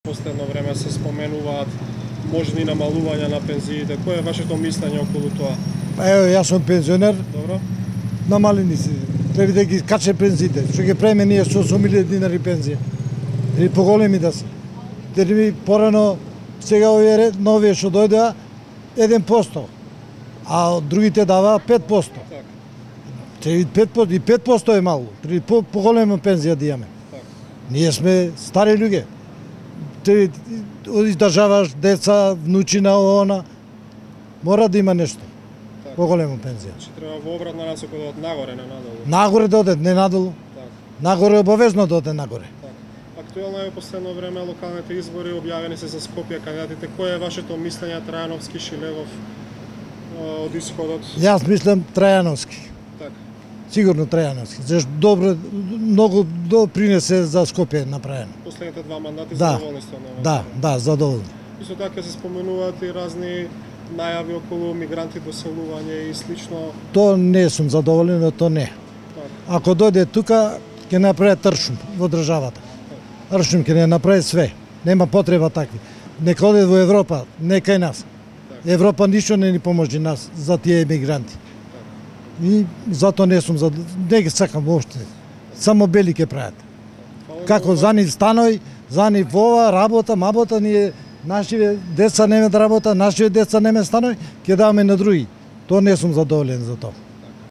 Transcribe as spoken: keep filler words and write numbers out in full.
Последно време се споменуваат можни намалувања на пензиите. Кое е вашето мислење околу тоа? Па ево, јас сум пензионер, Добро? намалени си. Треба да ги каче пензиите. Што ги преме ние со осум илјади динари пензија. Или поголеми да се. Дали ми порано сега овие новие што дојдоа еден процент, а другите даваа пет процент. Так. Треба пет процент и пет процент е мало. Треба по поголема пензија да имаме. Так. Ние сме стари луѓе. Ти издржаваш деца, внучина, она, мора да има нешто. Так. Поголема пензија. Че треба во обратна насока да од нагоре, не надолу. Нагоре да оде, не надолу. Так. Нагоре обавезно да оде нагоре. Так. Актуелно е последно време локалните избори, објавени се за Скопје кандидатите. Кое е вашето мислење Трајановски, Шилевов од исходот? Јас мислам Трајановски. Так. Сигурно Трајановски. Зашто добро, многу допринесе за Скопје направено. Последните два мандати Да. задоволни сте од него? Да, да, задоволни. Исто така се споменуваат и разни најави околу мигранти, доселување и слично. То не сум задоволен, но то не. Так. Ако дојде тука, ќе направи тршум во државата. Тршум ќе не направи све. Нема потреба такви. Нека оде во Европа, не кај нас. Европа ништо не ни поможи нас за тие емигранти. И затоа не сум за не ги сакам воопште. Само бели ќе прават. Како за нив станови, за нив ова работа, мабота, ние нашиве деца неме да работа, нашиве деца неме станови, ќе даваме на други. Тоа не сум задоволен за тоа.